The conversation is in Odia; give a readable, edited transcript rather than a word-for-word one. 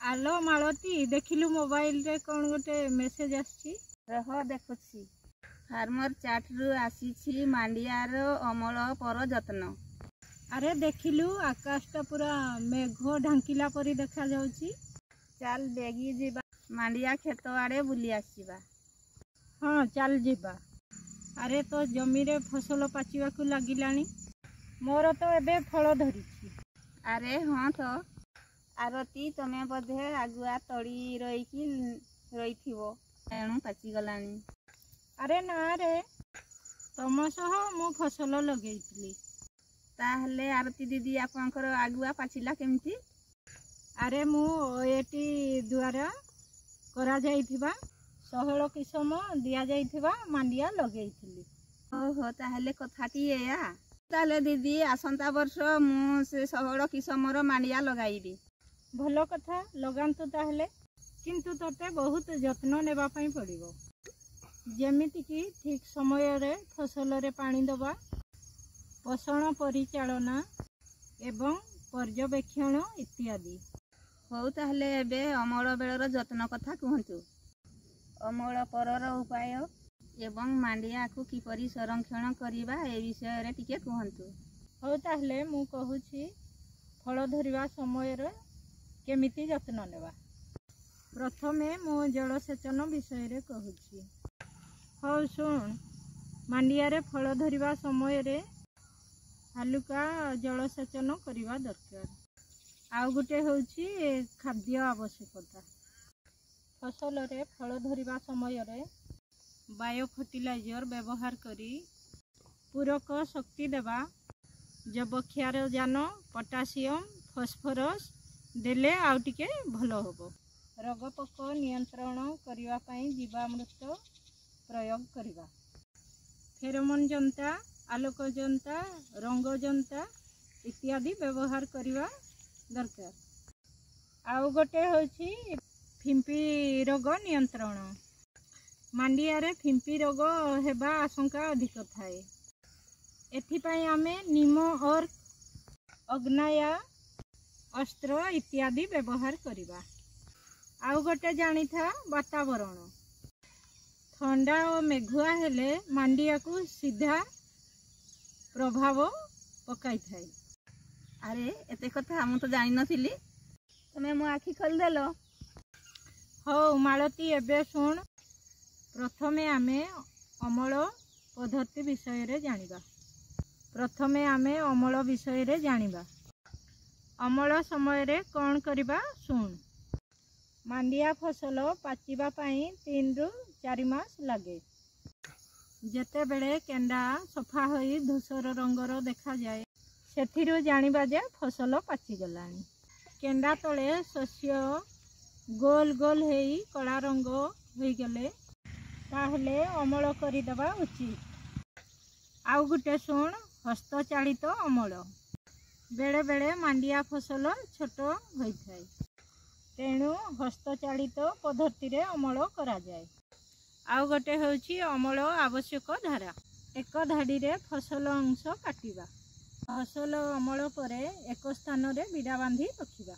ଆଲୋ ମାଳତୀ, ଦେଖିଲୁ ମୋବାଇଲରେ କ'ଣ ଗୋଟେ ମେସେଜ ଆସିଛି? ରହ, ଦେଖୁଛି। ଫାର୍ମର ଚାଟରୁ ଆସିଛି, ମାଣ୍ଡିଆର ଅମଳ ପର ଯତ୍ନ। ଆରେ ଦେଖିଲୁ, ଆକାଶଟା ପୁରା ମେଘ ଢାଙ୍କିଲା ପରି ଦେଖାଯାଉଛି। ଚାଲ ବେଗି ଯିବା, ମାଣ୍ଡିଆ କ୍ଷେତ ଆଡ଼େ ବୁଲି ଆସିବା। ହଁ, ଚାଲ ଯିବା। ଆରେ ତୋ ଜମିରେ ଫସଲ ପାଚିବାକୁ ଲାଗିଲାଣି, ମୋର ତ ଏବେ ଫଳ ଧରିଛି। ଆରେ ହଁ ତ ଆରତୀ, ତମେ ବୋଧେ ଆଗୁଆ ତଳି ରୋଇକି ରହିଥିବ, ତେଣୁ ପାଚିଗଲାଣି। ଆରେ ନା ରେ, ତମ ସହ ମୁଁ ଫସଲ ଲଗେଇଥିଲି। ତାହେଲେ ଆରତୀ ଦିଦି, ଆପଣଙ୍କର ଆଗୁଆ ପାଚିଲା କେମିତି? ଆରେ ମୁଁ ଓଏଟି ଦ୍ୱାରା କରାଯାଇଥିବା 16 କିସମ ଦିଆଯାଇଥିବା ମାଣ୍ଡିଆ ଲଗେଇଥିଲି। ଓହୋ, ତାହେଲେ କଥାଟି ଏଇଆ। ତାହେଲେ ଦିଦି, ଆସନ୍ତା ବର୍ଷ ମୁଁ ସେ 16 କିସମର ମାଣ୍ଡିଆ ଲଗାଇବି। ଭଲ କଥା, ଲଗାନ୍ତୁ ତାହେଲେ। କିନ୍ତୁ ତୋତେ ବହୁତ ଯତ୍ନ ନେବା ପାଇଁ ପଡ଼ିବ, ଯେମିତିକି ଠିକ୍ ସମୟରେ ଫସଲରେ ପାଣି ଦେବା, ପୋଷଣ ପରିଚାଳନା ଏବଂ ପର୍ଯ୍ୟବେକ୍ଷଣ ଇତ୍ୟାଦି। ହଉ, ତାହେଲେ ଏବେ ଅମଳ ବେଳର ଯତ୍ନ କଥା କୁହନ୍ତୁ। ଅମଳ ପରର ଉପାୟ ଏବଂ ମାଣ୍ଡିଆକୁ କିପରି ସଂରକ୍ଷଣ କରିବା, ଏ ବିଷୟରେ ଟିକେ କୁହନ୍ତୁ। ହଉ ତାହେଲେ ମୁଁ କହୁଛି, ଫଳ ଧରିବା ସମୟରେ କେମିତି ଯତ୍ନ ନେବା। ପ୍ରଥମେ ମୁଁ ଜଳସେଚନ ବିଷୟରେ କହୁଛି। ହଉ ଶୁଣ, ମାଣ୍ଡିଆରେ ଫଳ ଧରିବା ସମୟରେ ହାଲୁକା ଜଳସେଚନ କରିବା ଦରକାର। ଆଉ ଗୋଟେ ହେଉଛି ଖାଦ୍ୟ ଆବଶ୍ୟକତା। ଫସଲରେ ଫଳ ଧରିବା ସମୟରେ ବାୟୋ ଫର୍ଟିଲାଇଜର ବ୍ୟବହାର କରି ପୂରକ ଶକ୍ତି ଦେବା। ଯବକ୍ଷାରଜାନ, ପଟାସିୟମ, ଫସ୍ଫରସ୍ ଦେଲେ ଆଉ ଟିକେ ଭଲ ହେବ। ରୋଗ ପୋକ ନିୟନ୍ତ୍ରଣ କରିବା ପାଇଁ ଜୀବାମୃତ ପ୍ରୟୋଗ କରିବା। ଫେରୋମୋନ୍ ଯନ୍ତା, ଆଲୋକ ଯନ୍ତା, ରଙ୍ଗ ଯନ୍ତା ଇତ୍ୟାଦି ବ୍ୟବହାର କରିବା ଦରକାର। ଆଉ ଗୋଟେ ହେଉଛି ଫିମ୍ପି ରୋଗ ନିୟନ୍ତ୍ରଣ। ମାଣ୍ଡିଆରେ ଫିମ୍ପି ରୋଗ ହେବା ଆଶଙ୍କା ଅଧିକ ଥାଏ। ଏଥିପାଇଁ ଆମେ ନିମ ଅର୍କ, ଅଗ୍ନାୟା ଅସ୍ତ୍ର ଇତ୍ୟାଦି ବ୍ୟବହାର କରିବା। ଆଉ ଗୋଟେ ଜାଣିଥା, ବାତାବରଣ ଥଣ୍ଡା ଓ ମେଘୁଆ ହେଲେ ମାଣ୍ଡିଆକୁ ସିଧା ପ୍ରଭାବ ପକାଇଥାଏ। ଆରେ, ଏତେ କଥା ମୁଁ ତ ଜାଣିନଥିଲି। ତମେ ମୋ ଆଖି ଖୋଲିଦେଲ। ହଉ ମାଳତୀ, ଏବେ ଶୁଣ, ପ୍ରଥମେ ଆମେ ଅମଳ ପଦ୍ଧତି ବିଷୟରେ ଜାଣିବା। ପ୍ରଥମେ ଆମେ ଅମଳ ବିଷୟରେ ଜାଣିବା। ଅମଳ ସମୟରେ କ'ଣ କରିବା ଶୁଣ। ମାଣ୍ଡିଆ ଫସଲ ପାଚିବା ପାଇଁ 3ରୁ 4 ମାସ ଲାଗେ। ଯେତେବେଳେ କେଣ୍ଡା ସଫା ହୋଇ ଧୂସର ରଙ୍ଗର ଦେଖାଯାଏ, ସେଥିରୁ ଜାଣିବା ଯେ ଫସଲ ପାଚିଗଲାଣି। କେଣ୍ଡା ତଳେ ଶସ୍ୟ ଗୋଲ ଗୋଲ ହେଇ କଳା ରଙ୍ଗ ହୋଇଗଲେ ତାହେଲେ ଅମଳ କରିଦେବା ଉଚିତ। ଆଉ ଗୋଟେ ଶୁଣ, ହସ୍ତଚାଳିତ ଅମଳ। ବେଳେବେଳେ ମାଣ୍ଡିଆ ଫସଲ ଛୋଟ ହୋଇଥାଏ, ତେଣୁ ହସ୍ତଚାଳିତ ପଦ୍ଧତିରେ ଅମଳ କରାଯାଏ। ଆଉ ଗୋଟେ ହେଉଛି ଅମଳ ଆବଶ୍ୟକ ଧାରା। ଏକ ଧାଡ଼ିରେ ଫସଲ ଅଂଶ କାଟିବା। ଫସଲ ଅମଳ ପରେ ଏକ ସ୍ଥାନରେ ବିଡ଼ା ବାନ୍ଧି ରଖିବା।